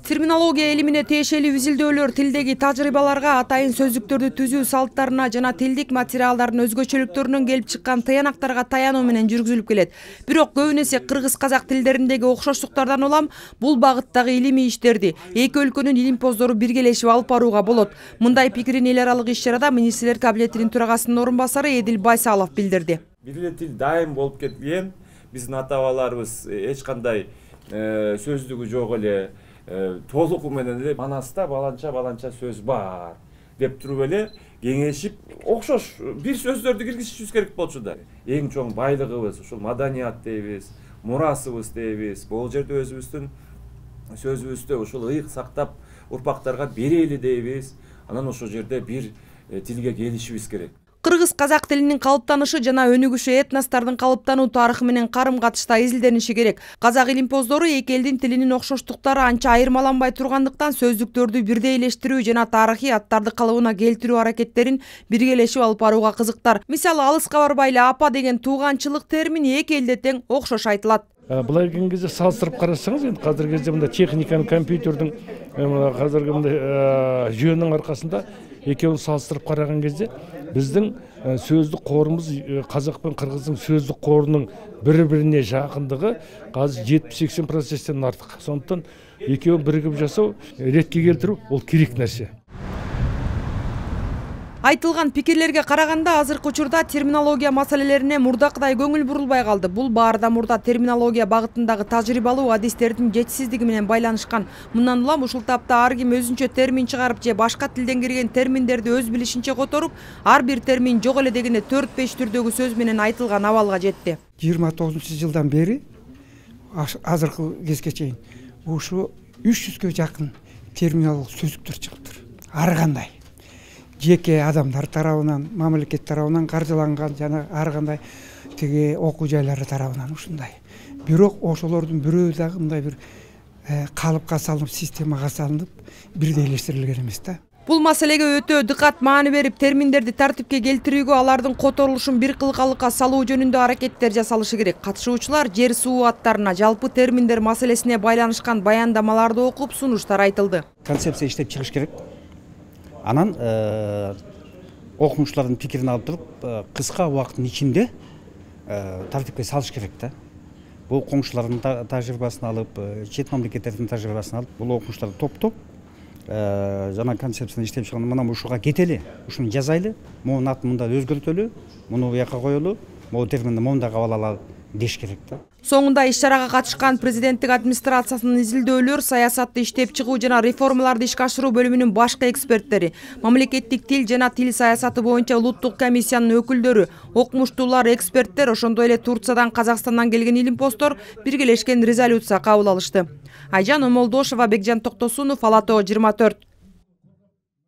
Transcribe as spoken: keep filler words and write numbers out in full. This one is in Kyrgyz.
Терминология илимине тиешелүү изилдөөлөр тилдеги тажрыйбаларга, атайын сөздүктөрдү түзүү салттарына жана тилдик материалдардын өзгөчөлүктөрүнөн келип чыккан тыянактарга таянуу менен жүргүзүлүп келет. Бирок көбүн эсе кыргыз-казак тилдериндеги окшоштуктардан улам бул багыттагы илимий иштерди эки өлкөнүн илимпоздору биргелешип алып барууга болот. Мындай пикирин эл аралык иш-чарада министрлер кабинетинин төрагасынын орун басары Эдил Байсалов билдирди. Бир эле тил дайым болуп кеткен, биздин ата-бабаларыбыз эч кандай сөздүгү жок эле, толугу менен эле Манаста баланча баланча сөз бар деп туруп эле кеңешип, окшош бир сөздөрдү киргизишибиз керек болчу да. Эң чоң байлыгыбыз ушул маданият дейбиз, мурасыбыз дейбиз. Бул жерде өзүбүздүн сөзүбүздү ушул ыйык сактап урпактарга берели дейбиз. Анан ошол жерде бир тилге келишибиз керек. Кыргыз-казак тилинин калыптанышы жана өнүгүшү этностордун калыптануу тарыхы менен карым-катышта изилдениши керек. Казак илимпоздору эки элдин тилинин окшоштуктары анча айырмаланбай тургандыктан сөздүктөрдү бирдейлештирүү жана тарыхый аттарды калыбына келтирүү аракеттерин биргелешип алып барууга кызыктар. Мисалы, алыска барбай эле апа деген тууганчылык термини эки элде тең окшош айтылат. Былай келген кезде салыстырып карасаңыз, енді қазіргі кезде мында техниканың, компьютердің, қазіргі мында жүйенің арқасында екеуін салыстырып қараған кезде біздің сөздік қорымыз қазақ пен қырғыздың сөздік қорының бір-біріне жақындығы қазір жетпіс-сексен проценттен артық. Сондықтан екеуін бірігіп жасау, ретке келтіру ол керек нәрсе. Айтылган пикирлерге караганда азыркы учурда терминология маселелерине мурдакыдай көңүл бурулбай калды. Бул баарда мурда терминология багытындагы тажрыйбалуу адистердин жетишсиздиги менен байланышкан. Мындан улам ушул тапта ар ким өзүнчө термин чыгарып же башка тилден кирген терминдерди өз билишинче которуп, ар бир термин жок эле дегенде төрт-беш түрдөгү сөз менен айтылган абалга жетти. жыйырма тогузунчу жылдан бери азыркы кезге чейин ушу үч жүзгө жакын терминологиялык сөздүктөр чыгыптыр. Ар кандай жеке адамдар тарабынан, мамлекет тарабынан каржыланган жана ар кандай тиги окуу жайлары тарабынан ушундай. Бирок ошолордун бирөө дагы мындай бир калыпка салынып, системага салынып, бирдейлештирилген эмес да. Бул маселеге өтө дыкат маани берип, терминдерди тартипке келтирүүгө, алардын которулушун бир кылкалыкка салуу жөнүндө аракеттер жасалышы керек. Катышуучулар жер суу аттарына, жалпы терминдер маселесине байланышкан баяндамаларды окуп, сунуштар айтылды. Концепция иштеп чыгыш керек. Анан окумуштардын пикирин алып туруп, кыска убакыттын ичинде тартипке салыш керек да. Бул коңшулардын тажрыйбасын алып, чет мамлекеттердин тажрыйбасын алып, бул окумуштарды топтоп, жана концепцияны иштеп чыгып, мына ушуга кетели, ушуну жазайлы, монун атын мында өзгөртөлү, муну буяка коелу, могу терминди монда кабыл алалы деш керек да. Соңунда иш-чарага катышкан президенттик администрациясынын изилдөөлөр, саясатты иштеп чыгуу жана реформаларды ишке ашыруу бөлүмүнүн башкы эксперттери, мамлекеттик тил жана тил саясаты боюнча улуттук комиссиянын өкүлдөрү, окумуштуулар, эксперттер, ошондой эле Турциядан, Казакстандан келген илимпоздор биргелешкен резолюция кабыл алышты. Айжан Омолдошова, Бекжан Токтосунов, Ала Тоо жыйырма төрт.